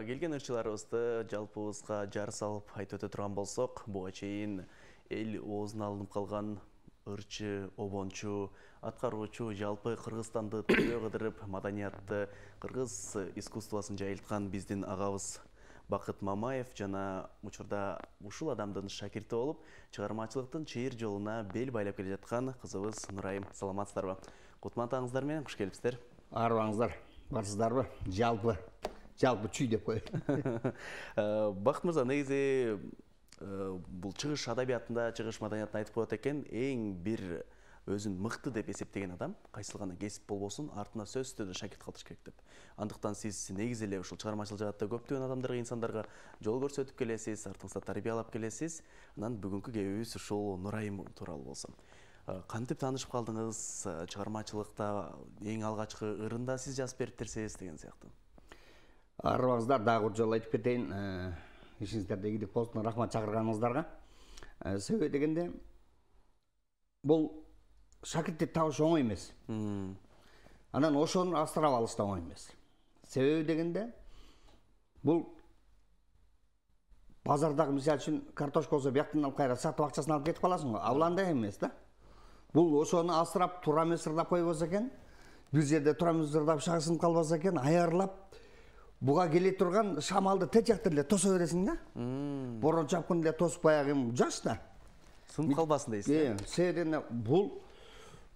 Келген ырчыларыбызды жалпыбызга жар салып айтып өтө турган болсок, буга чейин эл оозуна алынып калган ырчы, обончу, аткаруучу, жалпы Кыргызстанды тирөө кыдырып, маданиятты, кыргыз искусствосын жайылткан биздин агабыз Бакыт Мамаев жана учурда ушул адамдын шакирти болуп, чыгармачылыктын чейир жолуна бел байлап келе жаткан кызыбыз Нурайым. Саламатсыздарбы? Кутман таңыңыздар менен куш келипсиздер. Арыбаңыздар, барсыздарбы? Жалпы чүй деп коет. Бакыт мырза, негизи бул чыгыш адабиятында, чыгыш маданиятында айтып коет экен, эң бир өзүн мыкты деп эсептеген адам кайсыл гана кесип болбосун артына сөзсүз түрдө шакирт калтырыш керек деп. Андыктан сиз негизи эле ушул чыгармачыл жаатта көптөгөн адамдарга, инсандарга жол көрсөтүп келесиз, артыңызда тарбиялап келесиз. Анан бүгүнкү кебибиз ушул Нурайым тууралуу болсун. Кантип таанышып калдыңыз? Чыгармачылыкта эң алгачкы ырында сиз жазып бериптерсиз деген сыяктуу. Арыбаңыздар, дагы бир жолу айтып кетейин. Ишиңиздерде ийгилик болсун, рахмат чакырганыңыздарга. Себеби дегенде бул шакиртти табыш оңой эмес. Анан ошону астырап алыш да оңой эмес. Себеби дегенде бул базардагы мисалы үчүн картошка болсо бияктан алып кайра сатып акчасын алып кетип каласың го. Ал андай эмес да. Бул ошону астырап туура эмес ырдап койбосо экен, бир жерде туура эмес ырдап шагысынып калбаса экен, аярлап буга келе турган шамалды тет жактан эле тосо бересиң да. Борон чапкын эле тосуп баягы жаш да. Сынып калбасын дейсиз. Себеби бул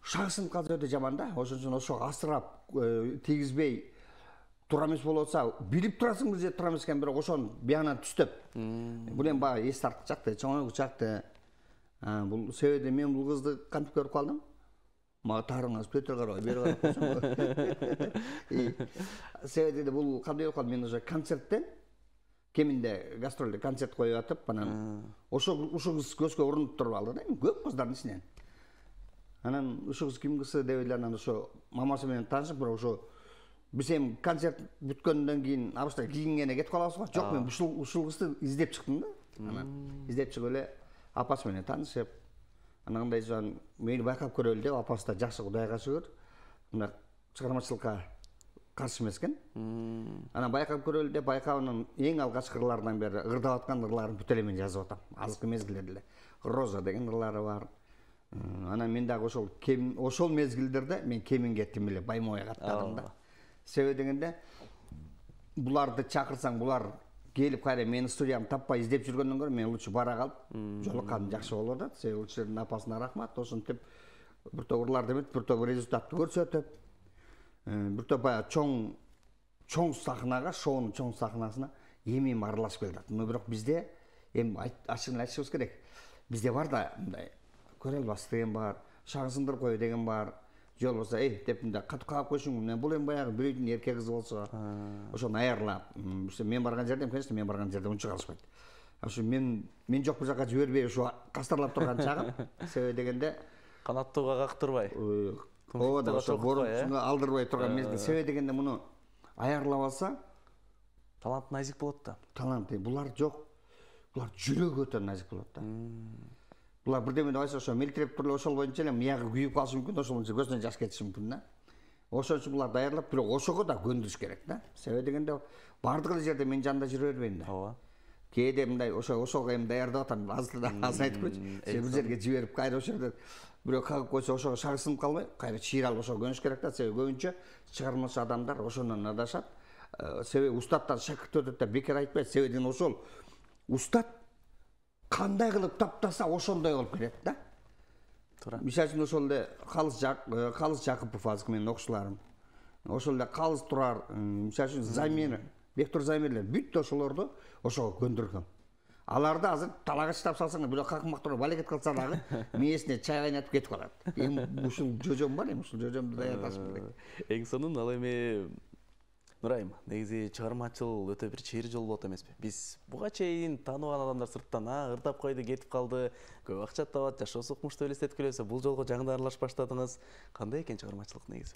шагысынып калса өтө жаман да. Ошон үчүн ошо астырап тийгизбей туура эмес болуп атса, билип турасың бир жерде туура эмес экен, бирок ошону биянан түстөп. Бул эми баягы эс тарткычакты, чоңойгучакты. Бул себеби мен бул кызды кантип көрүп калдым? Мага тарыңыз пөтөр карабай, бери карап койсоң. Себеби бул кандай болуп калды? Мен уже концерттен кеминде гастролдо концерт коюп атып, анан ушул кыз көзгө урунуп туруп алды да, көп кыздардын ичинен. Анан ушул кыз ким кызы деп эле анан ошо мамасы менен таанышып, бирок ошо биз эми концерт бүткөндөн кийин абышта кийингене кетип калабыз го. Жок, мен ушул кызды издеп чыктым да. Анан издеп чыгып эле апасы менен таанышып, анан кандай жан мени байкап көрөлү деп, апасы да жакшы Кудайга шүгүр. Мына чыгармачылыкка каршы эмес экен. Анан байкап көрөлү деп, байкабынын эң алгачкы ырларынан бери ырдап аткан ырларын бүт эле мен жазып атам. Азыркы мезгилдерде эле Роза деген ырлары бар. Анан мен дагы ошол мезгилдерде мен кеминге тим эле Баймоя каттадым да. Себеби дегенде буларды чакырсаң, булар келип кайра менин студиямды таппай издеп жүргөндөн көрө мен лучше бара калып жолукканым жакшы болуп атат. Себеби ушунун апасына рахмат. Ошентип бир топ ырларды эметип, бир топ результатты көрсөтүп, бир топ баягы чоң сахнага, шоунун чоң сахнасына эми аралашып келатат. Бирок бизде эми ачыгын айтышыбыз керек. Бизде бар да мындай көрө албас деген бар, шагысындырып кой деген бар. Жол болсо, деп мындай катып калып койшуң, бул эми баягы бирөйдүн эркек кызы болсо, ошону аярлап, мен барган жерде, конечно, мен барган жерде унча калышпайт. Ошо мен жок бир жака жибербей ушу кастарлап турган чагым. Себеби дегенде канаттууга кактырбай. Ооба, ошо борунга алдырбай турган мезгил. Себеби дегенде муну аярлап алса, талант назик болот да. Талант, булар жок. Булар жүрөгү өтө назик болот да. Булар бирдеме деп айтса, ошо мелтиреп туруп ошол боюнча эле мыягы күйүп калышы мүмкүн, ошол боюнча көзүнөн жаш кетиши мүмкүн да. Ошон үчүн буларды аярлап, бирок ошого да көндүрүш керек да. Себеби дегенде бардык эле жерде мен жанында жүрө бербейм да. Ооба. Кээде мындай ошого эми даярдап атам, азыр айтып койчу. Бир жерге жиберип, кайра ошол жерде бирөө кагып койсо, ошого шагысынып калбай, кайра чыйралып ошого көнүш керек да. Себеби көбүнчө чыгармачы адамдар ошондон адашат. Себеби устаттан шакирт өтөт деп бекер айтпайт. Себеби ошол устат кандай кылып таптаса ошондой болуп кетет да. Туура. Мисалы үчүн ошол эле Калыс Жакыпов азыркы менин окуучуларым. Ошол эле Калыс Турар, мисалы үчүн Замир, Бектур Замирлер бүт ошолорду ошого көндүргөм. Аларды азыр талага чыдап салсаң, бирөө какмактырып балекет кылса дагы мээсине чай кайнатып кетип калат. Эми ушул жожом бар, эми ушул жожомду даярдашым керек. Эң сонун ал эми Нурайым, негизи чыгармачыл өтө бир чейир жол болот эмеспи? Биз буга чейин тааныбаган адамдар сырттан ырдап койду, кетип калды, көп акча табат, жашоосу укмуштуу элестетип келебиз. Бул жолго жаңы аралашып баштадыңыз. Кандай экен чыгармачылык негизи?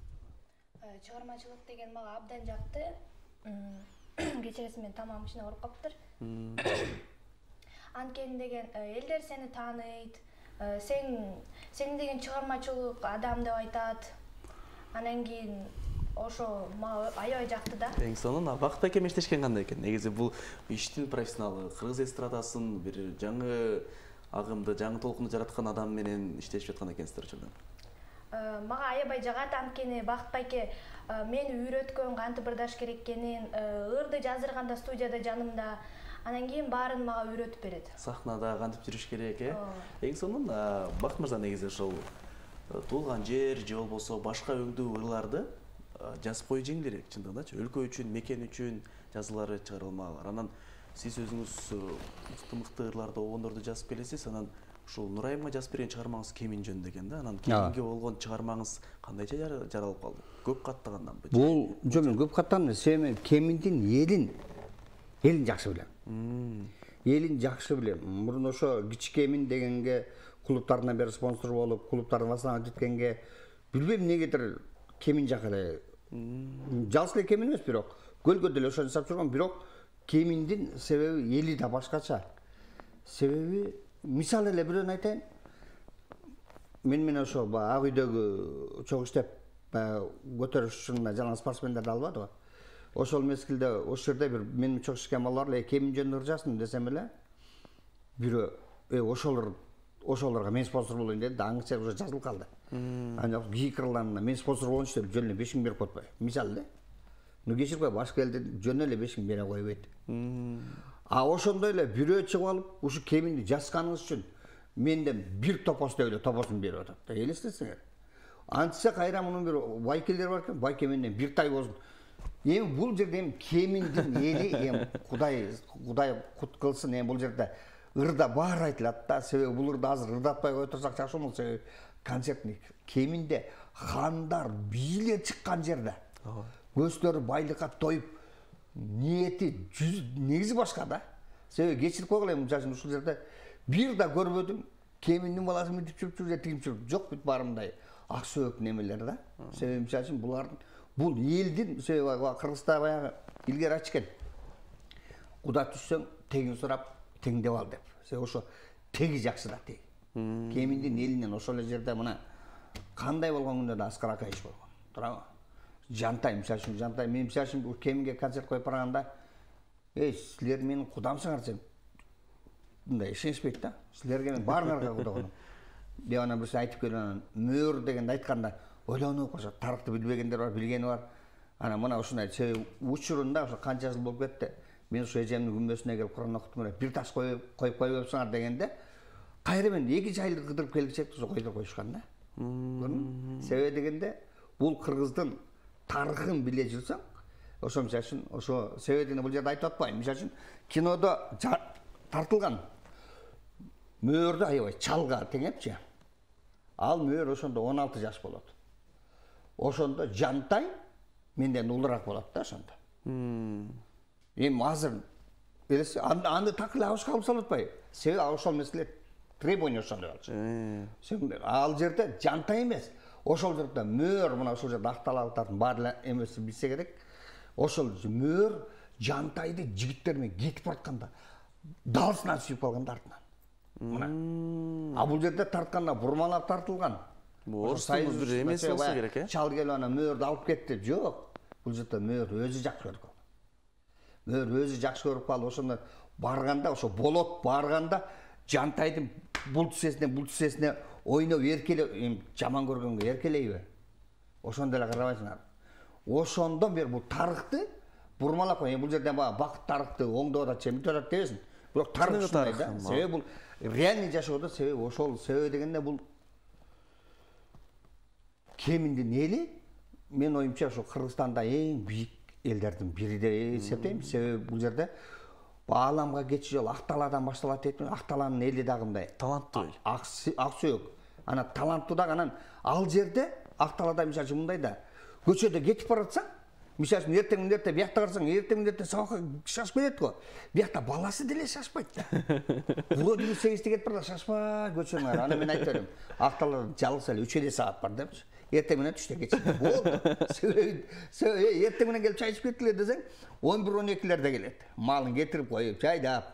Чыгармачылык деген мага абдан жакты. Кечеси мен тамагым ичине ооруп калыптыр. Анткени деген элдер сени тааныйт, сен деген чыгармачылык адам деп айтат. Анан кийин ошо мага аябай жакты да. Эң сонун Бакыт айке менен иштешкен кандай экен? Негизи бул иштин профессионалы, кыргыз эстрадасын бир жаңы агымды, жаңы толкунду жараткан адам менен иштешип жаткан экенсиздер учурда. Мага аябай жагат, анткени Бакыт байке мени үйрөткөн кантип ырдаш керек экенин, ырды жаздырганда студияда жанымда, анан кийин баарын мага үйрөтүп берет. Сахнада кантип жүрүш керек, Эң сонун Бакыт мырза негизи ошол туулган жер же болбосо башка өңдүү ырларды жазып коюу жеңил элек чындыгындачы. Өлкө үчүн, мекен үчүн жазуулары чыгарылмалар. Анан сиз өзүңүз мыкты ырларды, обондорду жазып келесиз. Анан ушул Нурайымга жазып берген чыгармаңыз Кемин жөнүндө экен да. Анан Кеминге болгон чыгармаңыз кандайча жаралып калды? Көп каттаганданбы? Бул жок, мен көп каттаган себеби Кеминдин элин жакшы билем. Элин жакшы билем. Мурун ошо Кичкемин дегенге клубтардан бери спонсор болуп, клубтарды басынан жеткенге билбейм эмнегедир Кемин жакы эле. Жалгыз эле Кемин эмес, бирок көлгө деле ошо жасап жүргөн, бирок Кеминдин себеби эли да башкача. Себеби мисалы эле бирөөнү айтайын. Мен менен ошо ак үйдөгү чогуу иштеп көтөрүш учурунда жалаң спортсмендерди албадыбы? Ошол мезгилде ошол жерде бир менин чогуу иштеген балдар эле Кемин жөнүндө ыр жаздым десем эле бирөө ошолорго мен спонсор болоюн деди да, аңча уже жазылып калды. Ана кийик ырларына мен спонсор болчу деп жөн эле 5000 берип койбой. Мисалы да. Ну кечирип кой, башка элде жөн эле 5000 бере койбойт. А ошондой эле бирөө чыгып алып, ушу Кеминди жазганыңыз үчүн менден бир топостой эле топосун берип атат да. Элестетсеңер. Антса кайра мунун бир байкелер бар экен, байке менден бир тай болсун. Эми бул жерде Кеминдин эли, Кудай кут кылсын, бул жерде ырда баары айтылат да. Себеби бул ырда азыр ырдатпай кое турсак жакшы болмок. Себеби концертник Кеминде хандар, бийлер чыккан жерде. Көздөрү байлыкка тоюп, ниети негизи башка да. Себеби кечирип койгула, мисалы ушул жерде бир да көрбөдүм. Кеминдин баласы мынтип чүп же тигип чүп, жок бүт баарындай ак сөөк немелер да. Себеби мисалы булардын бул элдин себеби Кыргызда баягы илгери айтышкен. Куда түшсөң тегин сурап, теңдеп ал деп. Себеби ошо теги жакшы да теги. Кеминдин элинен ошол жерде мына кандай болгон күндө да Аскар Акаевич болгон. Туурабы? Жантай, мисалы Жантай, мен мисалы Кеминге концерт коюп барганда, силер менин кудамсыңар десем, мындай ишенишпейт да. Силерге мен баарыңарга кудагмын. Деп анан бирсе айтып келип анан мөөр дегенди айтканда ойлонуп калышат. Тарыхты билбегендер бар, билгени бар. Анан мына ушундай учурунда ошо канча жыл болуп кетти. Мен ушу эжемдин күмбөсүнө келип Кур'ан окуттум эле, бир таш коюп койбопсуңар дегенде, кайра мен 2 айлык кыдырып келчек ошо койдуруп коюшкан да. Себеби дегенде бул кыргыздын тарыхын биле жүрсөң, ошо мисалы үчүн ошо себебин бул жерде айтып атпайм. Мисалы үчүн кинодо тартылган мөөрдү аябай чалга теңепчи. Ал мөөр ошондо 16 жаш болот. Ошондо Жантай менден улураак болот да ошондо. Эми азыр аны такыр абышка алып салып атпайбы? Себеби ошол мезгилде требование ошондой болчу. Ал жерде Жантай эмес, ошол жерде мөөр, мына ошол жерде акталалыктардын баары эмеси билсе керек. Ошол мөөр Жантайды жигиттер менен кетип баратканда далысынан сүйүп калган артынан. Мына. А бул жерде тартканда бурмалап тартылган. Орустун бир эмеси болсо керек, Чал келип ана мөөрдү алып кетти. Жок. Бул жерде мөөр өзү жакшы көрүп калды. Мөөр өзү жакшы көрүп калды. Ошондо барганда, ошо болот барганда Жантайдын бул тисесине ойноп эркелеп, жаман көргөнгө эркелейби? Ошондо эле карабайсыңар. Ошондон бери бул тарыхты бурмалап кой. Бул жерде Бакыт тарыхты оңдоп атат, чемитип атат дебесин. Бирок тарых ушундай да. Себеби бул реальный жашоодо себеби ошол себеби дегенде бул Кеминдин эли, мен оюмча ошо Кыргызстанда эң бийик элдердин бири деп эсептейм. Себеби бул жерде бааламга кетчү жол Акталадан башталат дейт. Акталанын эли дагы мындай таланттуу эл. Ак сөөк. Ана таланттуу дагы анан ал жерде Акталада мисалы мындай да. Көчөдө кетип баратсаң, мисалы эртең мендетте биякта карасаң, эртең мендетте сабакка шашып кетет го. Биякта баласы деле шашпайт да. Вроде 8-те кетип барда шашпа көчөңөр. Ана мен айтып берем. Акталада жалгыз эле 3 саат бар депчи. Эртең менен түштө кетсин. Болду. Себеби эртең менен келип чай ичип кеттилер десең, 11-12лерде келет. Малын кетирип коюп, чайдап.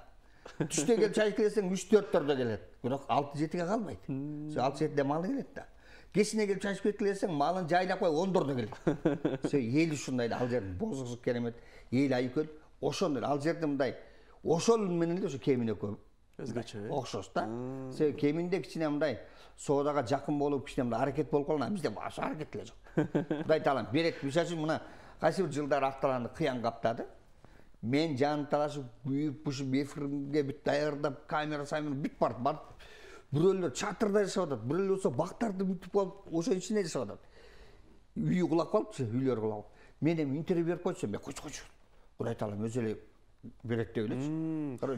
Түштө келип чай ичесең 3-4-төрдө келет. Бирок 6-7ге калбайт. 6-7де малы келет да. кечине келип чачып кеткиле десең, малын жайлап кой 14-дө келет. Эл ушундай ал жердин бозугусу керемет, эл айкөл, ошондой ал жерде мындай ошол менен эле ошо кемин экөө өзгөчө окшош да. Себеби кеминде кичине мындай соодага жакын болуп, кичине мындай аракет болуп калган, бизде башка аракет эле жок. Кудай таалам берет. Мисалы үчүн мына кайсы бир жылдары Акталаны кыян каптады. Мен жан талашып, күйүп-пушуп, эфирге бүт даярдап, камера бүт барып. Бирөөлөр чатырда жашап атат, бирөөлөр болсо бактарды бүтүп алып, ошо ичинде жашап атат. Үйү кулап калыпчы, үйлөрү кулап. Мен эми интервью берип койчусам, мен койчу. Кудай таалам өзү эле берет деп элечи.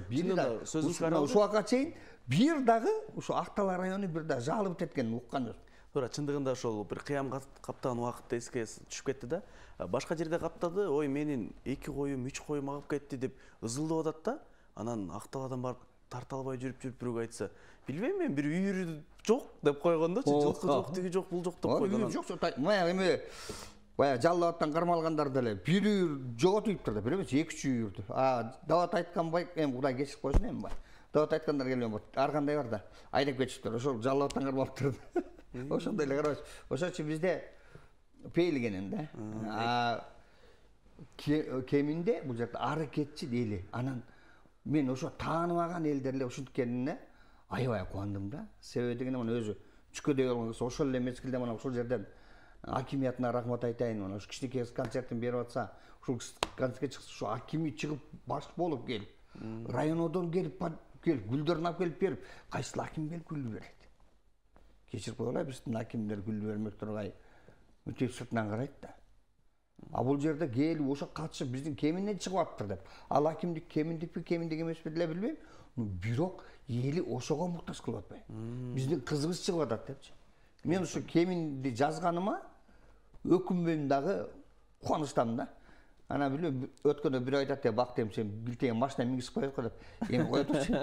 Бир да сөзүңүз ушул убакка чейин бир дагы ушу Актал району бир да жалып эткенин уккан жок. Туура, чындыгында ошол бир кыям каптаган убакытта эске түшүп кетти да. Башка жерде каптады, ой менин 2 коюм, 3 коюм агып кетти деп ызылдап атат да. Анан Акталадан барып тарта албай жүрүп бирөө айтса, билбейм мен бир үйүрү жок деп койгондочу, жылкы жок, тиги жок, бул жок деп койгон. Үйүрү жок, мая эме бая жаллабаттан кармалгандар деле бир үйүр жоготуптур да, бир эмес 2-3 үйүрдү. Дават айткан бай, эми Кудай кечирип койсун эми бай. Дават айткандар келбей, ар кандай бар да, айдап кетиптир. Ошол жаллабаттан кармалыптыр. Ошондой эле карабыз. Ошочу бизде пейлигенен да. Кеминде бул жерде аракетчи эли. Анан мен ошо тааныбаган элдер эле ушинткенине аябай кубандым да. Себеби дегенде мына өзү чүкөдөй болгон кыз ошол эле мезгилде мына ушул жерден акимиятына рахмат айтайын. Мына ушу кичинекей концертин берип атса, ушул концертке чыкса, ушу акими чыгып баш болуп келип, районодон келип гүлдөрүн алып келип берип, кайсыл аким келип гүл берет. Кечирип коелу, биздин акимдер гүл бермек тургай өтө сыртынан карайт да. А бул жерде келип ошо катышып биздин кеминден чыгып атыптыр деп. Ал акимдик кеминдикпи, кеминдик эмеспи деле билбейм. Бирок эли ошого муктаж кылып атпайбы? Биздин кызыбыз чыгып атат депчи. Мен ушу кеминди жазганыма өкүнбөйм дагы, кубанычтамын да. Ана билбейм, өткөндө бирөө айтат деп бактым, сен билтеген машина мингизип коет го деп. Эми кое турчу.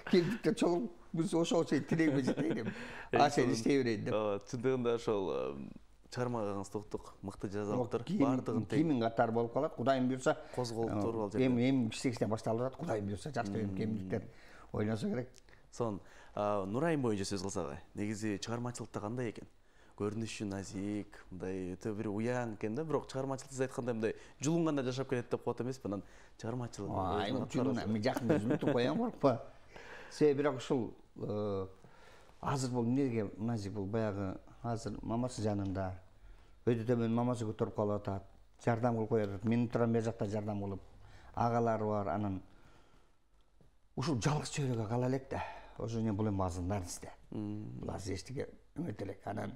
Кемдиктер чогулуп, биз ошого чейин тилегиме жетейин деп. Сен иштей берейин деп. Чындыгында ошол чыгармагыңыз токтук, мыкты жазалыптыр. Бардыгын кимин катары болуп калат. Кудайым буйрса, козголуптур ал жерде. Эми кичинекейден башталып атат. Кудайым буйрса, жакшы кемдиктер ойлонсо керек. Сон, Нурайым боюнча сөз кылсак, негизи чыгармачылыкта кандай экен? Көрүнүшү назик, мындай өтө бир уяң экен да, бирок чыгармачылык сиз айткандай мындай жулунганда жашап кетет деп коет эмеспи? Анан чыгармачылык мен жакында үзүнүп коям коркпа. Себеби бирок ушул азыр бул эмнеге назик, бул баягы азыр мамасы жанында өтө төмөн мамасы көтөрүп калып атат, жардам кылып коюп атат. Мен турам бер жакта жардам кылып, агалары бар, анан ушул жалгыз чөйрөгө кала элек да. Ошо эмне бул эми азыр нарсте. Бул азыр эчтеке эмете элек. Анан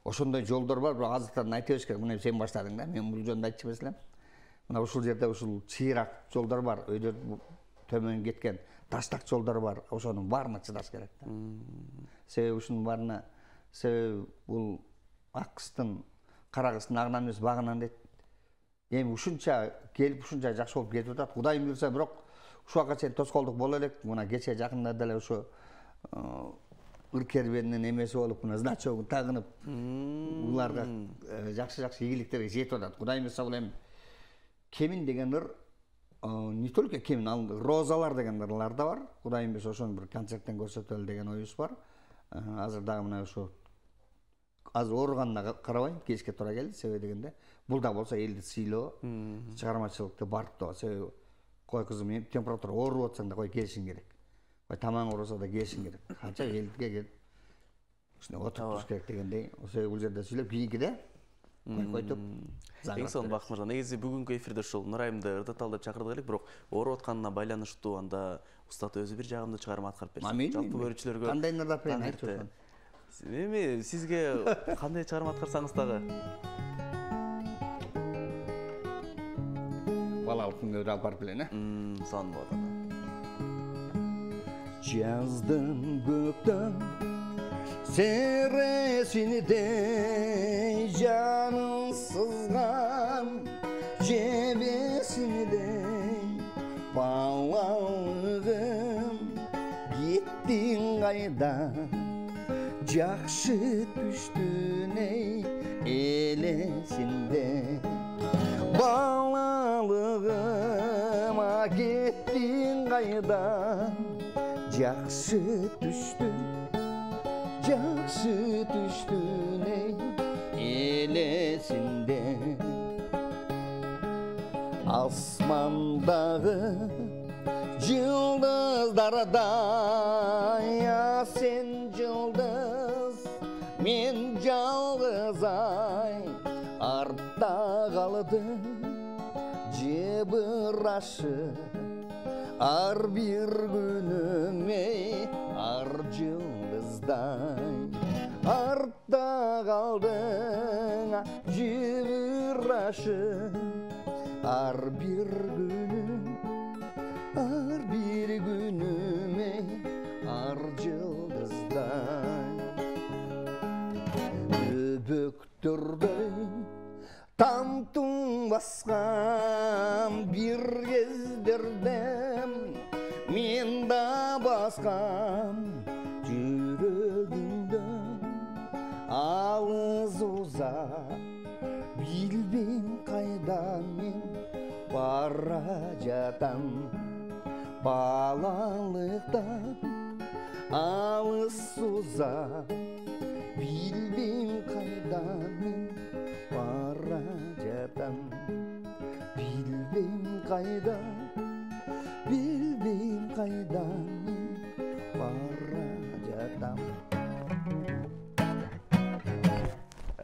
ошондой жолдор бар, бирок азыртан айта бериш керек. Мына сен баштадың да, мен бул жөнүндө айтчу эмес элем. Мына ушул жерде ушул чыйрак жолдор бар, өйдө төмөн кеткен таштак жолдор бар. Ошонун баарына чыдаш керек да. Себеби ушунун баарына, себеби бул ак кыздын кара кыздын агынан эмес багынан дейт. Эми ушунча келип, ушунча жакшы болуп кетип атат. Кудайым буйрса, бирок ушул убакка чейин тоскоолдук боло элек. Мына кече жакында деле ошо ыр-кербенин эмеси болуп, мына значогун тагынып, буларга жакшы ийгиликтерге жетип атат. Кудайым буйрса, бул эми кемин деген ыр, не только кемин, ал розалар деген ырлар да бар. Кудайым буйрса, ошону бир концерттен көрсөтөлү деген оюбуз бар. Азыр дагы мына ошо азыр ооруганына карабай кечке туура келди. Себеби дегенде бул да болсо элди сыйлоо, чыгармачылыкты барктоо. Себеби кой кызым, температура ооруп атсаң да кой келишиң керек. Кой тамаң ооруса да келишиң керек. Канча элдиге келип ушуна отуруп туруш керек дегендей. Ошо бул жерде сүйлөп кийинкиде койтуп. Эң сонун Бакыт мырза, негизи бүгүнкү эфирде ушул Нурайымды ырдаталы деп чакырдык элек, бирок ооруп атканына байланыштуу анда устат өзү бир жагымдуу чыгарма аткарып берсин. Жалпы көрүүчүлөргө кандай ырдап берейин айтчу. Эми сизге кандай чыгарма аткарсаңыз дагы. Балалык күнгө алып барып эле, Сонун болот анда. Жаздын көктөн сересинде жаным сызган жебесинде балалыгым кеттиң кайда жакшы түштүн эй элесинде балалыгым кеттиң кайда жакшы түштүн жакшы түштүн элесинде асмандагы жылдыздардай сен жылдыз мен жалгыз ай артта калды жебырашы ар бир күнүм ар жылдыздай артта калдың жебырашы ар бир күнүм ар жылдыздай өбөктөрдөй тамтың баскан бир кездерде мен да баскан жүрөгүмдө алыс узак билбейм кайда мен бара жатам балалыктан алыс узак билбейм кайда мен бара жатам билбейм кайда мен бара жатам.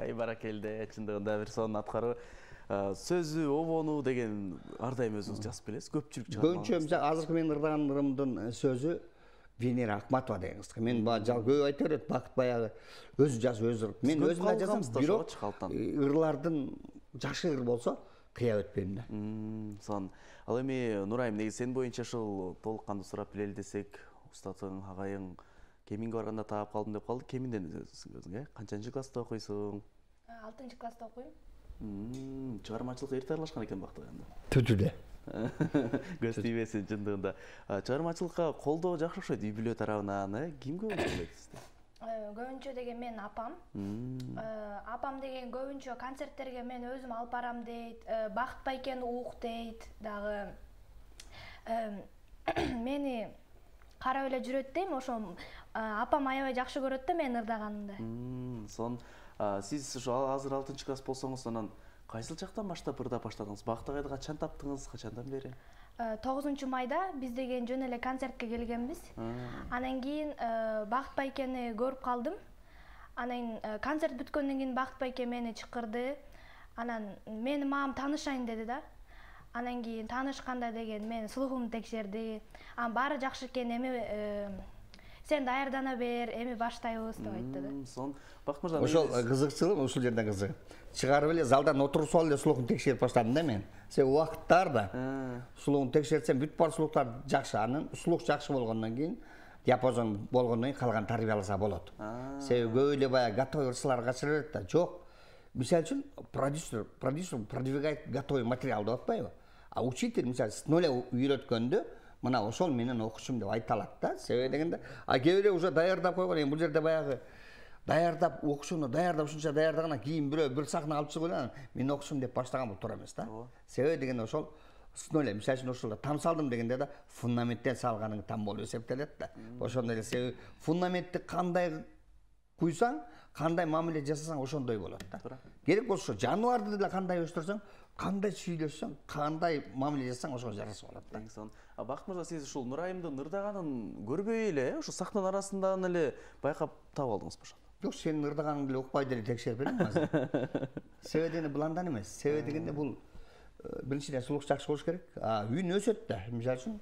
Ай баракелде, чындыгында бир сонун аткаруу. Сөзү обону деген ар дайым өзүңүз жазып келесиз, көпчүлүк чыгат. Көбүнчө азыркы менин ырдаган ырымдын сөзү Венера Акматова деген кыз. Мен көп айта берет, Бакыт баягы өзү жазып өзү ырып. Мен өзүм жазам, бирок ырлардын жакшы ыр болсо кыя өтпөйм да. Сон. Ал эми Нурайым, негизи сен боюнча ушул толук кандуу сурап билели десек, устатың, агайың кеминге барганда таап калдым деп калды. Кеминден өзүң, канчанчы класста окуйсуң? 6-класста окуйм. Чыгармачылыкка эрте аралашкан экен бактыганда. Түтүдө. Көз тийбесин чындыгында. Чыгармачылыкка колдоо жакшы окшойт үй бүлө тарабынан, ким көп колдойт сизди? Көбүнчө деген мен апам. Апам деген көбүнчө концерттерге мен өзүм алып барам дейт, Бакыт байкени ук дейт, дагы мени карап эле жүрөт дейм, ошо апам аябай жакшы көрөт да мен ырдаганымды. Сон сиз ушу азыр 6-класс болсоңуз, анан кайсыл чактан баштап ырдап баштадыңыз? Бактыгайды качан таптыңыз, качандан бери? 9 майда биз деген жөн эле концертке келгенбиз. Анан кийин Бакыт байкени көрүп калдым. Анан концерт бүткөндөн кийин Бакыт байке мени чакырды. Анан мени мамам таанышайын деди да. Анан кийин таанышканда деген мен слухумду текшерди. Анан баары жакшы экен, эми сен даярдана бер, эми баштайбыз деп айтты да. Сон Бакыт мырза, ошол кызыкчылык ушул жерде кызык. Чыгарып эле залдан отуруп алып эле слухун текшерип баштадым да мен. Себеби убакыттарда слухун текшертсем бүт бар слухтар жакшы, анын слух жакшы болгондон кийин, диапазон болгондон кийин калган тарбияласа болот. Себеби көп эле баягы готовый ырсалар качыра берет да. Жок. Мисалы үчүн продюсер продвигает готовый материал деп атпайбы? А учитель мисалы с нуля үйрөткөндө мына ошол менен окушум деп айта алат да. Себеби дегенде, а кээ бирөө уже даярдап койгон, эми бул жерде баягы даярдап окушуну ушунча даярдагандан кийин бир сахна алып чыгып эле мен окушум деп баштаган бул туура эмес да. Себеби дегенде ошол с нуля, мисалы үчүн ошол там салдым дегенде да фундаменттен салганың там болуп эсептелет да. Ошондой эле себеби фундаментти кандай куйсаң, кандай мамиле жасасаң ошондой болот да. Керек болсо жаныбарды деле кандай өстүрсөң, кандай сүйлөшсөң, кандай мамиле жасасаң ошого жараса болот да. Бакыт мырза, сиз ушул Нурайымдын ырдаганын көрбөй эле, ушу сахнанын арасынан эле байкап таап алдыңызбы ошондо? Жок, сенин ырдаганыңды эле укпай деле текшерип берем азыр. Себеби дегенде бул андан эмес. Себеби дегенде бул биринчиден слух жакшы болуш керек. Үн өсөт да. Мисалы үчүн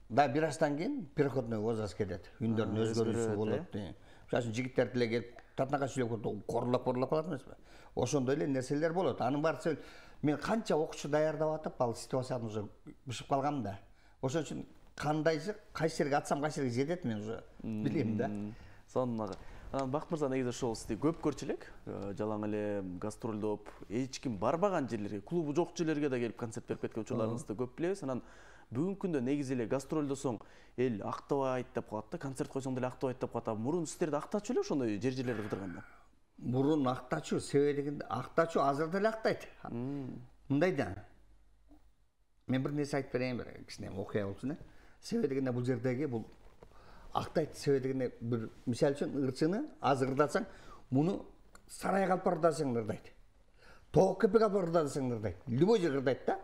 да бир аштан кийин переходной возраст келет. Үндөрдүн өзгөрүүсү болот. Мисалы үчүн жигиттер деле келип татнака сүйлөп көрдү, корлап калат эмеспи? Ошондой эле нерселер болот. Анын баары мен канча окуучу даярдап атып, ал ситуацияны уже бышып калгам да. Ошон үчүн кандайсы кайсы жерге атсам кайсы жерге жетет мен уже билем да. Сонун. Анан Бакыт мырза, негизи ошол сизди көп көрчү элек, жалаң эле гастролдоп, эч ким барбаган жерлерге, клубу жок жерлерге да келип концерт берип кеткен учурларыңызды көп билебиз. Анан бүгүнкү күндө негизи эле гастролдосоң эл актабайт деп калат да, концерт койсоң деле актабайт деп калат. Мурун сиздерди актачу эле ошондой жерлерде ырдырганда? Мурун актачу, себеби дегенде актачу азыр деле актайт. Мындай да. Мен бир нерсе айтып берейин, бир кичине окуя болчу да. Себеби дегенде бул жердеги бул актайт себеби дегенде бир мисалы үчүн ырчыны азыр ырдасаң муну сарайга алып барып ырдасаң ырдайт. Тоок кепеге алып барып ырдасаң ырдайт. Любой жерге ырдайт да.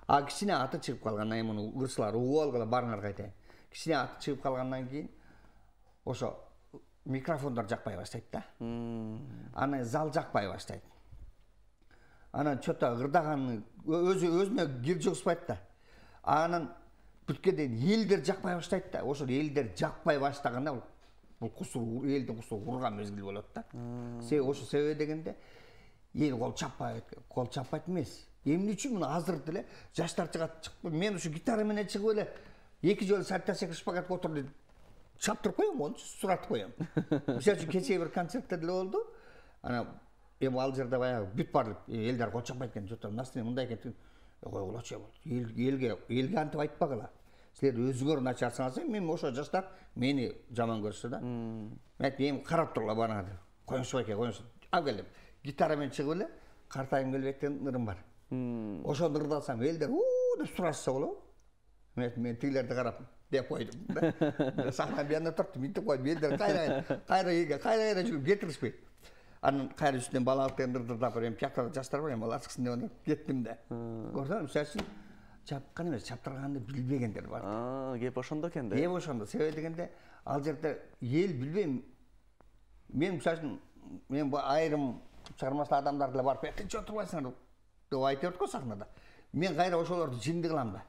А кичине аты чыгып калгандан кийин муну ырчылар угуп алгыла барыңар айтайын. Кичине аты чыгып калгандан кийин ошо микрофондор жакпай баштайт да. Анан зал жакпай баштайт. Анан чөтө ырдаганы өзүнө кир жугузбайт да. Анан бүткөндө элдер жакпай баштайт да. Ошо элдер жакпай баштаганда бул кусур элдин кусуру урган мезгил болот да. Себеби ошо себеби дегенде эл кол чаппайт эмес. Эмне үчүн муну азыр деле жаштар чыгат. Мен ушу гитара менен чыгып эле 2 жолу саттасак шпагатка отуруп чаптырып коем, мончу суратып коем. Мисалы үчүн кечээ бир концертте деле болду. Ана эми ал жерде баягы бүт барлык элдер кол чаппайт экен. Жото настроение мындай экен. Койгулачы элге антип айтпагыла. Силер өзүңөр начар саңасаң, мен ошо жаштар мени жаман көрсө да. Мен эми карап тургула бана деп. Коюңуз байке, коюңуз. Ал келип гитара менен чыгып эле картайым келбек деген ырым бар. Ошону ырдасам элдер деп сурашса болобу? Мен тигилерди карап деп койдум да. Сахнанын бuyanda турдум, мынтип койдум. Элдер кайра жүрүп кетиришпейт. Анан кайра үстүнөн балалык деген ырдап берем. Пиякта жаштар бар, эми алар чыксын деп анан кеттим да. Көрдүңүзбү? Мисалы үчүн чапкан эмес, чаптырганды билбегендер бар. Кеп ошондо экен да. Кеп ошондо. Себеби дегенде ал жерде эл билбейм. Мен мисалы үчүн мен айрым чыгармачыл адамдар деле барып «Тынч отурбайсыңар» деп айтып го сахнада. Мен кайра ошолорду жинди кылам да.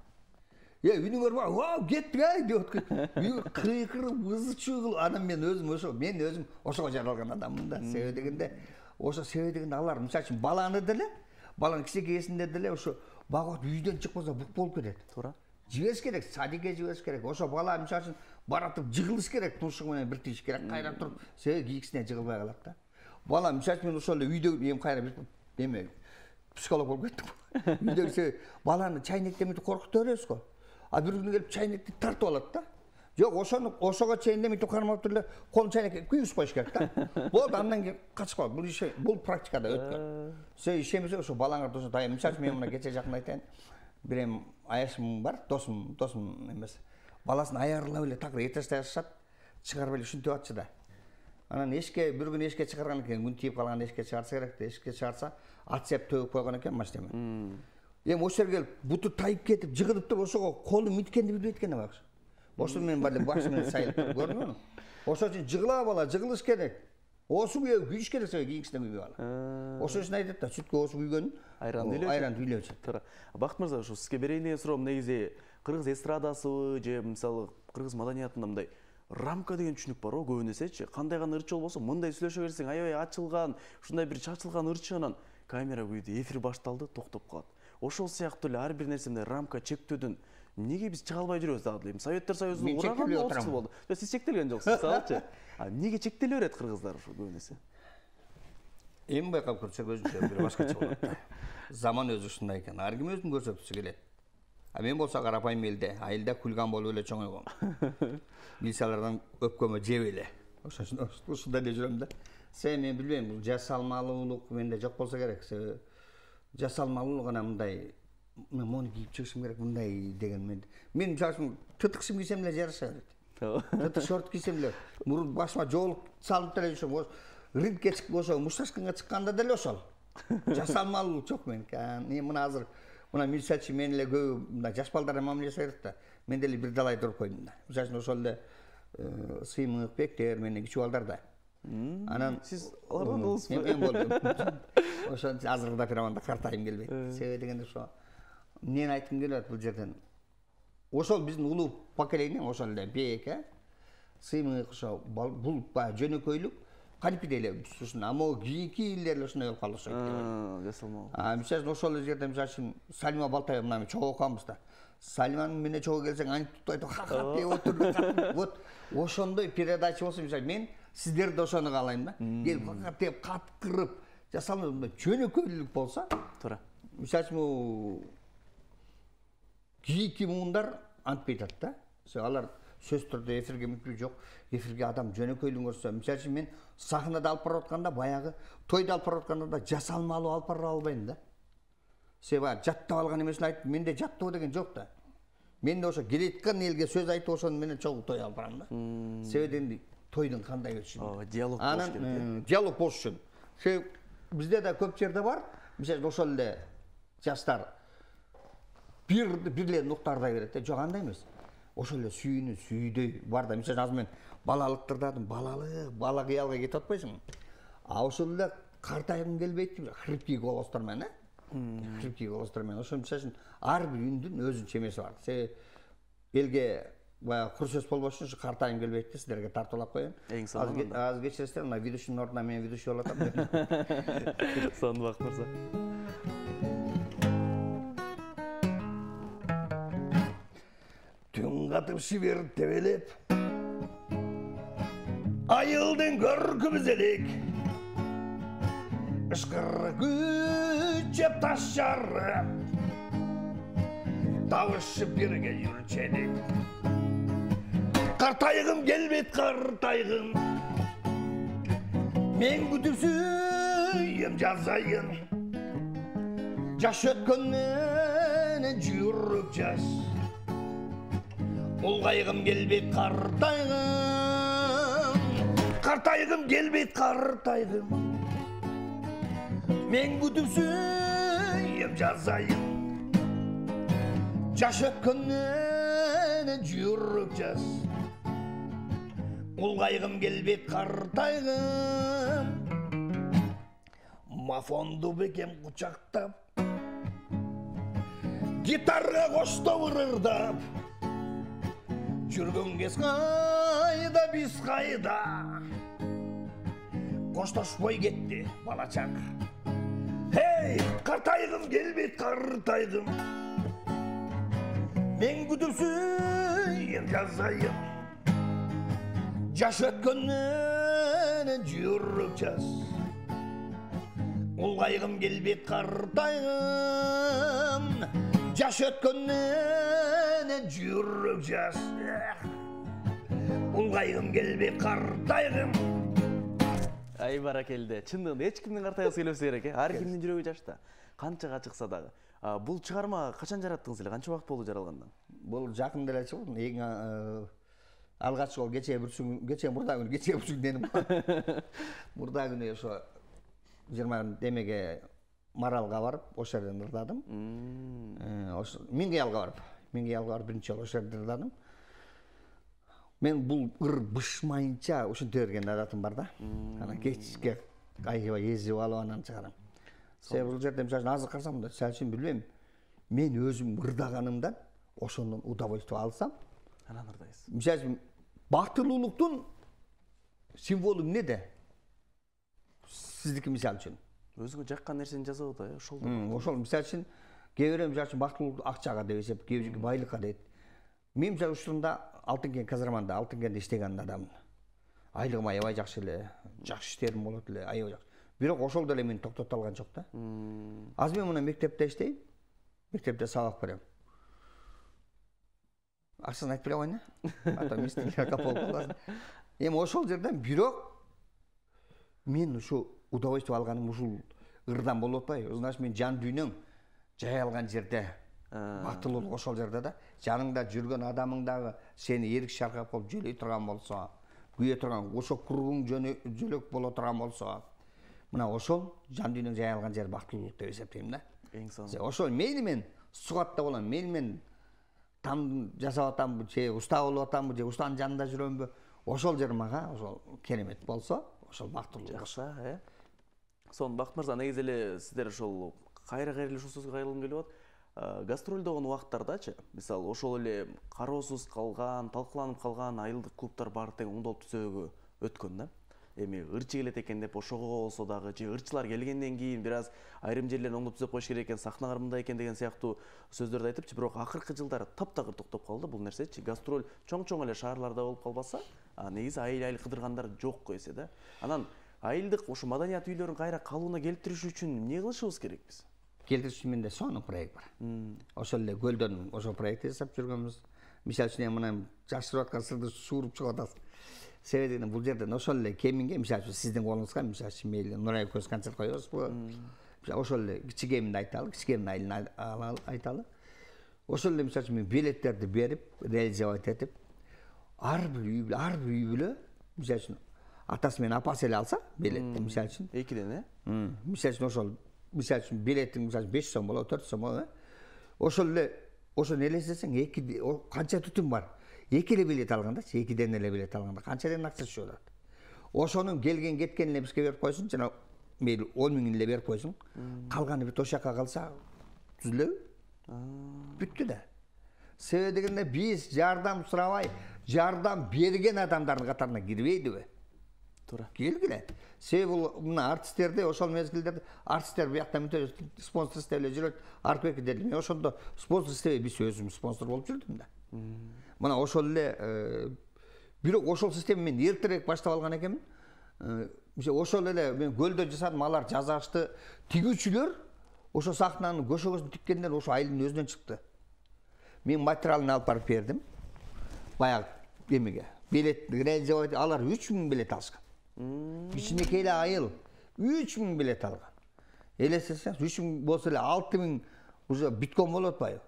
Үнүңөр бар, «Вау, кеттик ай» деп аткан. Кыйкырып, ызы-чуу, анан мен өзүм ошого жаралган адаммын да. Себеби дегенде ошо себеби дегенде алар мисалы үчүн баланы деле, баланын кичинекейсинде деле ошо багып үйдөн чыкпаса бук болуп кетет. Туура. Жибериш керек, садикке жибериш керек. Ошо бала мисалы үчүн баратып жыгылыш керек, тушугу менен бир тийиш керек, кайра туруп, себеби кийикисине жыгылбай калат да. Бала мисалы үчүн ошол эле үйдө эми кайра бир эме психолог болуп кеттим. Үйдөгү баланы чайнектен мынтип коркута беребиз го. А бир күнү келип чайнекти тартып алат да. Жок, ошого чейин мынтип кармап туруп эле колун чайнекке күйгүзүп коюш керек да. Болду, андан кийин качып калат. Бул практикада өткөн. Сен ишенбесе ошо балаңарды ошо дайым. Мисалы үчүн мен мына кече жакында айтайын. Бир эми аяшым бар, досум эмес. Баласын аярлап эле такыр этажда жашашат, чыгарып эле ушинтип атчы да. Анан бир күн эшикке чыгарган экен, күн тийип калган эшикке чыгарса керек да. Эшикке чыгарса, ат сеп төгүп койгон экен машинеме. Эми ошол жерге келип буту тайып кетип, жыгылып туруп ошого колу миткенди билбейт экен да. Ошо менен бали башымен сайылып туруп көрдүңүзбү? Ошол үчүн жыгыла бала, жыгылыш керек. Осу күйүш керек, себеби кийинкисине күйбөй калат. Ошол үчүн айтат да, сүткө осу күйгөн айранды үйлөөчү. Туура. Бакыт мырза, ушу сизге берейин деген суроом негизи кыргыз эстрадасыбы же мисалы кыргыз маданиятында мындай рамка деген түшүнүк бар го көбүн эсечи. Кандай гана ырчы болбосо, мындай сүйлөшө берсең, аябай ачылган, ушундай бир чачылган ырчы анан камера күйдү, эфир башталды, токтоп калат. Ошол сыяктуу эле ар бир нерсенде рамка чектөөдөн эмнеге биз чыга албай жүрөбүз дагы деле. Советтер Союзунун ураганы 30 жыл болду. Сиз чектелген жоксуз, мисалычы. Эмнеге чектеле берет кыргыздар ушу көбүн эсе? Эми байкап көрсөк өзүнчө бир башкача болот да. Заман өзү ушундай экен. Ар ким өзүн көрсөткүсү келет. А мен болсо карапайым элде, айылда күлган болуп эле чоңойгом. Мисалдардан өпкөмө жеп эле. Ушундай эле жүрөм да. Себеби мен билбейм, бул жасалмалуулук менде жок болсо керек. Себеби жасалмалуулук гана мындай мону кийип чыгышым керек мындай деген мен мисалы үчүн тытык кийсем кийсем эле жараша берет. Тытык шорт кийсем эле мурун башыма жоолук салып деле жүрөм. Рингке чыкып ошо мушташканга чыкканда деле ошол. Жасалмалуулук жок меники. Мына азыр мына мисалы үчүн мен эле көбү мына жаш балдарга мамиле жасай берет да. Мен деле бир далай туруп койдум да. Мисалы үчүн ошол эле сыймык бектер менен кичүү балдар да. Анан сиз алардан улусму? Мен болдум. Ошо азыр да пираманда картайым келбейт. Себеби дегенде ошо эмнени айткым келет бул жерден. Ошол биздин улуу поколение ошол эле бек, сыймык ошо бул жөнөкөйлүк кантип эле ушун амоо кийинки элдер эле ушундай болуп калды ошо. Жасалмал. Мисалы үчүн ошол жерде мисалы үчүн Салима Балтаева мына чогуу окуганбыз да. Салиманын менен чогуу келсең антип айтып ха-ха деп отуруп. Вот ошондой передача болсо мисалы мен сиздерди ошону каалайм да. Келип ха-ха деп каткырып жасалмай мындай жөнөкөйлүк болсо. Туура. Мисалы үчүн кийинки муундар антпей атат да. Алар сөз түрдө эфирге мүмкүнчүлүк жок. Эфирге адам жөнөкөйлүк көрсө, мисалы үчүн мен сахнада алып барып атканда баягы тойду алып барып атканда да жасалмалуу алып бара албайм да. Себеби жаттап алган эмесин айтып, менде жаттоо деген жок да. мен де ошо келеткан элге сөз айтып ошону менен чогуу той алып барам да. Себеби дегенде тойдун кандай өтүшүн. Диалог болуш керек. Анан диалог болуш үчүн. Себеби бизде да көп жерде бар. Мисалы ошол эле жаштар бирлерин уктардай берет да. Жок, андай эмес. Ошол эле сүйүүнү сүйдөй бар да. Мисалы азыр мен балалыктырдадым, бала кыялга кетип атпайсыңбы? А ошол эле картайгым келбейт деп хрипкий голостор менен, хрипкий голостор менен. Ошол үчүн ар бир үндүн өзүнчө эмеси бар. Себеби элге баягы кур сөз болбош үчүн картайгым келбейт деп силерге тартуулап коеюн. Аз кечиресиздер, мына ведущийдин ордуна мен ведущий болуп атам. Сонун Бакыт мырза. Түн катып шибер тебелеп, айылдын көркүбүз элек, ышкыр күчөп таш жарып, табышып бирге жүрчелик. Картайгым келбейт, картайгым, мен күтүп сүйөм жазайын, жаш өткөндөн жүрөк жаш. Улгайгым келбейт, картайгым, картайгым келбейт, картайгым, мен күтүп сүйөм жазайын, жаш өткөндөн жүрөк жаш. Улгайгым келбейт, картайгым, мафонду бекем кучактап, гитарга коштоп ырырдап, жүргөн кез кайда, биз кайда, коштошпой кетти балачак. Хей, картайгым келбейт, картайгым, мен күтүп сүйөм жазайын, жаш өткөндөн жүрөк жаш. Улгайгым келбейт, картайгым, жаш өткөндөн жүрөк жаш. Улгайгым келбейт, картайгым. Ай баракелде. Чындыгында эч кимдин картайгысы келбесе керек, ар кимдин жүрөгү жашта. Канчага чыкса дагы. Бул чыгарма качан жараттыңыз эле? Канча убакыт болду жаралгандан? Бул жакында эле чыкты. Эң алгач жолу кечээ мурда күнү деним. Мурда күнү ошо 20 демеге Маралга барып, ошол жерден ырдадым. Ошо Миңгиялга барып биринчи жолу ошол жерде ырдадым. Мен бул ыр бышмайынча ошентип берген адатым бар да. Анан кечке айгыбай эзип алып анан чыгарам. Себеби бул жерде мисалы азыр карасам да, сәл билбейм. Мен өзүм ырдаганымдан ошондон удовольствие алсам, анан ырдайсыз. Мисалы бактылуулуктун символу эмнеде? Сиздики мисалы үчүн. Өзүңө жаккан нерсени жасап атат, ошол. Ошол мисалы үчүн кээ бирөө мисалы үчүн бактылуулук акчага деп эсеп, кээ бирөө байлыкка дейт. Мен мисалы учурунда Алтынкен Казарманда, Алтынкенде иштеген адаммын. Айлыгым аябай жакшы эле, жакшы иштерим болот эле, аябай жакшы. Бирок ошол деле мени токтото алган жок да. Азыр мен мына мектепте иштейм. Мектепте сабак берем. Акчасын айтып бере коеюн, ата мистер капол кыласың. Эми ошол жерден бирок мен ушу удовольствие алганым ушул ырдан болуп атпайбы? Значит, мен жан дүйнөң жай алган жерде, бактылуулук ошол жерде да. Жаныңда жүргөн адамың дагы сени эрик шаркап болуп жөлөй турган болсо, күйө турган, ошо куругуң жөлөк боло турган болсо, мына ошол жан дүйнөң жай алган жер бактылуулук деп эсептейм да. Эң сонун. Ошол мейли мен сугатта болом, мейли мен там жасап атамбы, же уста болуп атамбы, же устанын жанында жүрөмбү, ошол жер мага ошол керемет болсо, ошол бактылуулук. Жакшы, Сонун Бакыт мырза, негизи эле сиздер ошол кайра эле ушул сөзгө кайрылгым келип атат. Гастролдогон убактардачы, мисалы ошол эле кароосуз калган, талкууланып калган айылдык клубтар баары тең оңдолуп түзөөгө өткөн да. Эми ырчы келет экен деп ошого болсо дагы, же ырчылар келгенден кийин бир аз айрым жерлерин оңдоп түзөп коюш керек экен, сахналар мындай экен деген сыяктуу сөздөрдү айтыпчы, бирок акыркы жылдары таптакыр токтоп калды бул нерсечи. Гастроль чоң эле шаарларда болуп калбаса, негизи айыл кыдыргандар жок эсе да. Анан айылдык ушу маданият үйлөрүн кайра калыбына келтириш үчүн эмне кылышыбыз керек биз? Келтириш үчүн менде сонун проект бар. Ошол эле көлдөн ошол проект жасап жүргөнбүз. Мисалы үчүн мына жашырып аткан сырды сууруп чыгып атасыз. Себеби бул жерден ошол эле кеминге, мисалы үчүн сиздин колуңузга, мисалы үчүн мейли Нурай көз концерт коебузбу? Ошол эле кичигемди айталы, кичигемдин айылын айталы. ошол эле мисалы үчүн мен билеттерди берип реализовать этип ар бир үй бүлө мисалы үчүн атасы менен апасы эле алса билетти мисалы үчүн экиден мисалы үчүн ошол мисалы үчүн билеттин мисалы 5 сом болобу 4 сом болобу ошол эле ошону элестесең канча түтүн бар 2 эле билет алгандачы 2ден эле билет алганда канчадан акча түшүп атат ошонун келген кеткен эле бизге берип койсун жана мейли 10 000 эле берип койсуң калганы бүт ошол жака калса түзүлөбү бүттү да себеби дегенде биз жардам сурабай жардам берген адамдардын катарына кирбейдиби туура келгиле себеби мына артисттерди ошол мезгилдерде артисттер биякта мынтип спонсор издеп эле жүрөт Аркбек деди мен ошондо спонсор издебей биз өзүм спонсор болуп жүрдүм да мына ошол эле бирок ошол система мен эртерээк баштап алган экенмин ошол эле мен көлдө жасадым алар жасашты тигүүчүлөр ошо сахнанын көшөгөсүн тиккендер ошо айылдын өзүнөн чыкты мен материалын алып барып бердим баягы эмеге билет реализовать алар 3000 билет алышкан кичинекей эле айыл 3000 билет алган элестесеңиз 3000 болсо эле 6000 уже бүткөн болуп атпайбы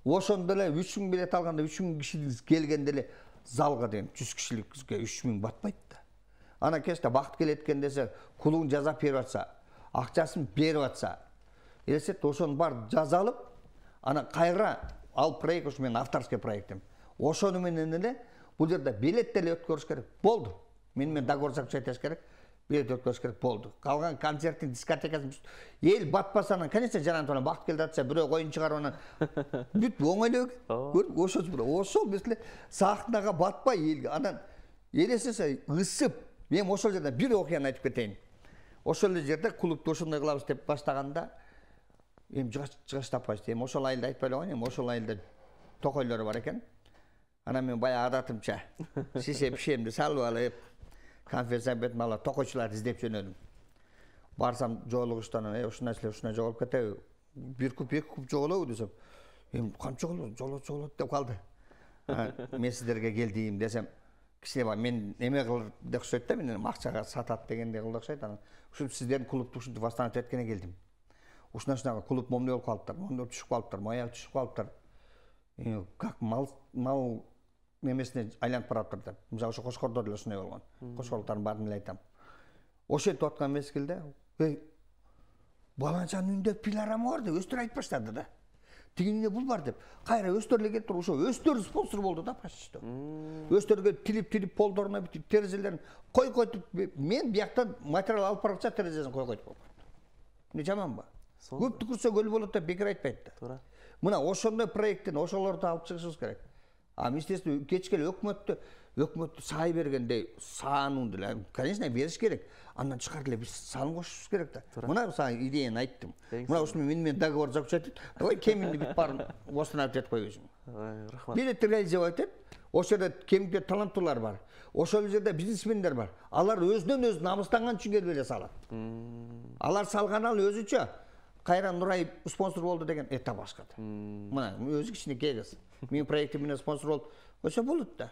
ошондо эле 3000 билет алганда 3000 киши келгенде эле залга деген 100 кишиликке 3000 батпайт да анан кечте бакыт келет экен десе клубун жасап берип атса акчасын берип атса элестет ошонун баарын жазалып анан кайра ал проект ошо менин авторский проектим ошону менен эле бул жерде билет деле өткөрүш керек болду мен договор заключать керек билет өткөрүш керек болду калган концерттин дискотекасын эл батпаса анан конечно жанагы менен бакыт келип атса бирөө коюн чыгарып анан бүт оңой эле көрдүңбү ошол мисалы сахнага батпай элге анан элестесе ысып мен ошол жерде бир окуяны айтып кетейин ошол эле жерде клубду ошондой кылабыз деп баштаганда эми жыгач таппайбыз эми ошол айылда айтпай эле коеюн эми ошол айылда токойлор бар экен анан мен баягы адатымча шише пишемди салып алып конференция бетин алып токойчуларды издеп жөнөдүм барсам жолугуштан ушундай ушундай жоголуп кетеби 1 куп 2 куп жоголобу десем эми канча жоголот деп калды мен сиздерге келдим десем кичине мен эме кылыр деп окшойт да мен акчага сатат дегендей кылды окшойт анан ушинтип сиздердин клубду ушинтип восстановить эткене келдим ушундай клуб момундай болуп калыптыр момундай түшүп калыптыр мояк түшүп калыптыр как мал немесине айланып бараптыр деп мисалы ошо Кошкордо деле ушундай болгон кошкорлуктардын баарын эле айтам ошентип аткан мезгилде баланчанын үйүндө пилорама бар деп өздөрү айтып баштады да тигинин үйүндө бул бар деп кайра өздөрү эле келип туруп ошо өздөрү спонсор болду да почти что өздөрү тилип полдоруна бүтүп терезелерин койгойтуп мен бияктан материал алып барача терезесин койгойтуп болгон эмне жаманбы көп түкүрсө көл болот деп бекер айтпайт да туура мына ошондой проекттен ошолорду алып чыгышыбыз керек естественно кечке эле өкмөттү сай бергендей саанын деле конечно бериш керек андан тышкары эле биз сан кошушубуз керек да мына сага идеяны айттым мына ушуну менен договор заключать эт давай кеминди бүт баарын восстановить этип койбойсуң рахмат билетти реализовать эт ошол жерде кемингде таланттуулар бар ошол жерде бизнесмендер бар алар өзүнөн өзү намыстанган үчүн келип эле салат алар салган ал өзүчө кайра Нурай спонсор болду деген это башка да мына өзү кичинекей кыз менин проектим менен спонсор болуп ошо болот да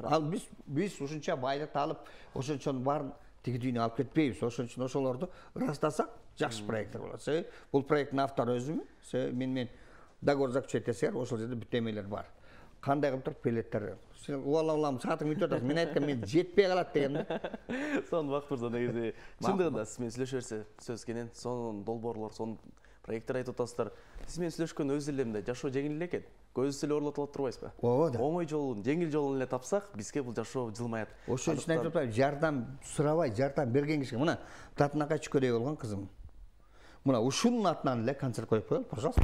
ал биз ушунча байлыкты алып ошончонун баарын тиги дүйнө алып кетпейбиз ошон үчүн ошолорду ырастасак жакшы проекттер болот себеби бул проекттин автору өзүмүн себеби мен договор заключать этсеңер ошол жерде бүт эмелер бар кандай кылып туруп билеттер сен улам саатың бүтүп атасың мен айткам мен жетпей калат дегем да сонун Бакыт мырза негизи чындыгында сиз менен сүйлөшө берсе сөз кенен сонун долбоорлор сонун проекттер айтып атасыздар сиз менен сүйлөшкөн өз эле мындай жашоо жеңил эле экен көзүбүз эле оорулотуп турбайсызбы ооба да оңой жолун жеңил жолун эле тапсак бизге бул жашоо жылмаят ошон үчүн айтып атпайбы жардам сурабай жардам берген кишиге мына Татынакай чүкөдөй болгон кызым мына ушунун атынан эле концерт коюп коелу пожалуйста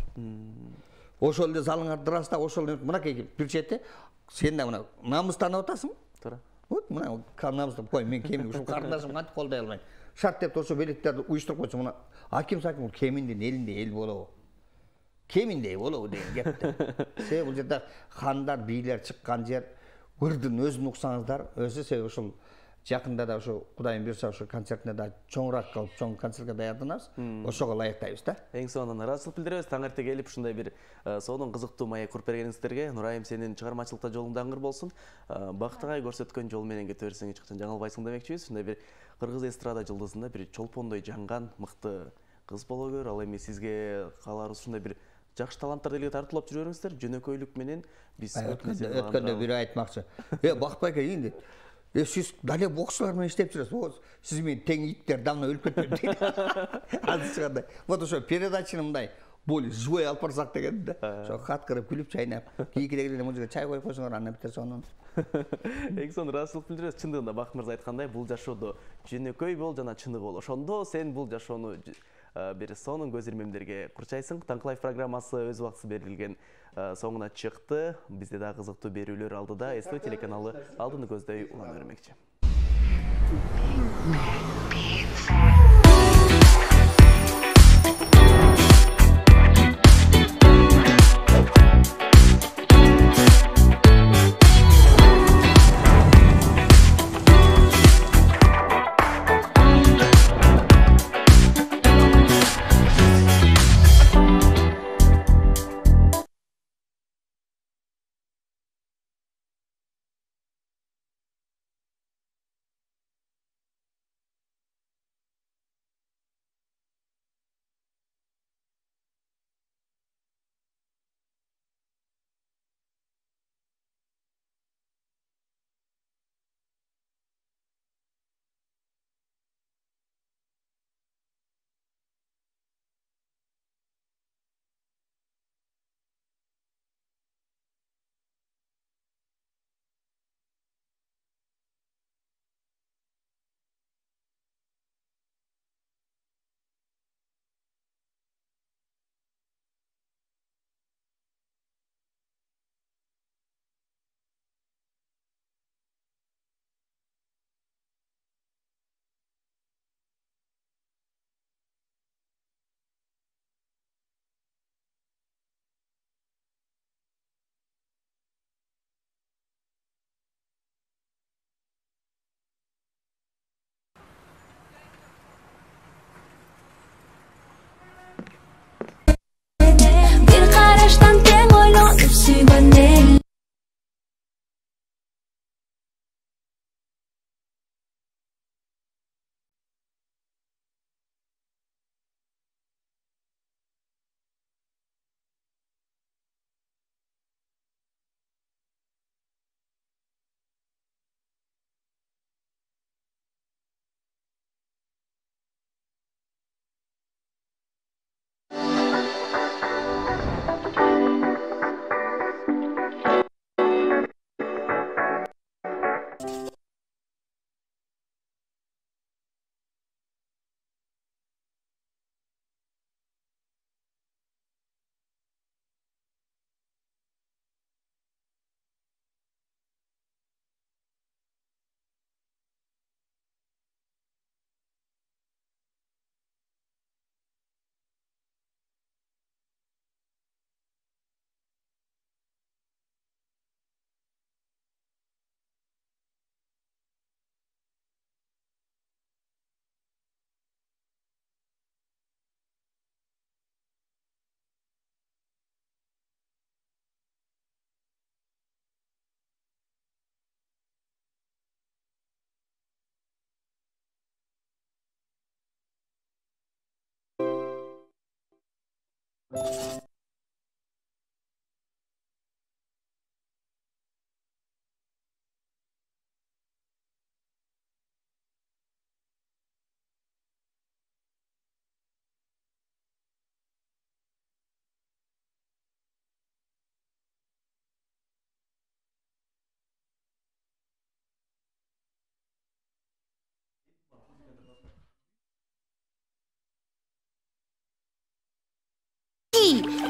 ошол эле залыңарды ыраста ошол мынакей бир чети сен да мына намыстанып атасың туура вот мына намыстап кой мен кемин ушул карындашым кантип колдой албайм шарт деп ошо билеттерди уюштуруп койсо мына аким саким кеминдин элинде эл болобу кеминдей болобу деген кеп да себеби бул жерде хандар бийлер чыккан жер ырдын өзүн уксаңыздар өзү себеби ушул жакында да ошо Кудайым буйрса ошо концертине да чоңураак кылып чоң концертке даярданабыз ошого ылайыктайбыз да эң соңунан ыраазычылык билдиребиз таң эрте келип ушундай бир сонун кызыктуу маек куруп бергениңиздерге Нурайым сенин чыгармачылыкта жолуң даңгыр болсун Бакыт агай көрсөткөн жол менен кете берсең эч качан жаңылбайсың демекчибиз ушундай бир кыргыз эстрада жылдызында бир чолпондой жанган мыкты кыз боло көр ал эми сизге кааларыбыз ушундай бир жакшы таланттарды элге тартуулап жүрө бериңиздер. Жөнөкөйлүк менен биз өткөндө бири айтмакчы. Бактыбайка дейин дейт. Siz дале боксчулар менен иштеп жүрөсүз. Сиз менен тең иттер давно өлүп кетпеди дейт. Азыр чыгандай. Вот ошо передачаны мындай более живой алып барсак деген да. Ошо кат кырып күлүп чайнап, кийинкиде эле музыка чай коюп койсоңор андан битер сонун. Эң сонун ыраазычылык билдиребиз. Чындыгында Бакыт мырза айткандай, бул жашоодо жөнөкөй бол жана чыныгы бол. Ошондо сен бул жашоону бир сонун көз ирмемдерге курчайсың. Таңкылайф программасы өз убактысы берилген соңуна чыкты. Бизде да кызыктуу берүүлөр алдыда. СТВ телеканалы алдыны көздөй улана бермекчи.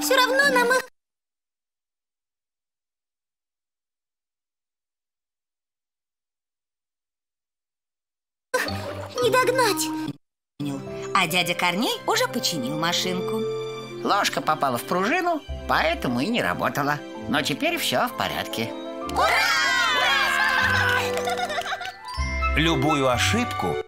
Все равно нам их... не догнать. А дядя Корней уже починил машинку. Ложка попала в пружину, поэтому и не работала. Но теперь все в порядке. Ура! Любую ошибку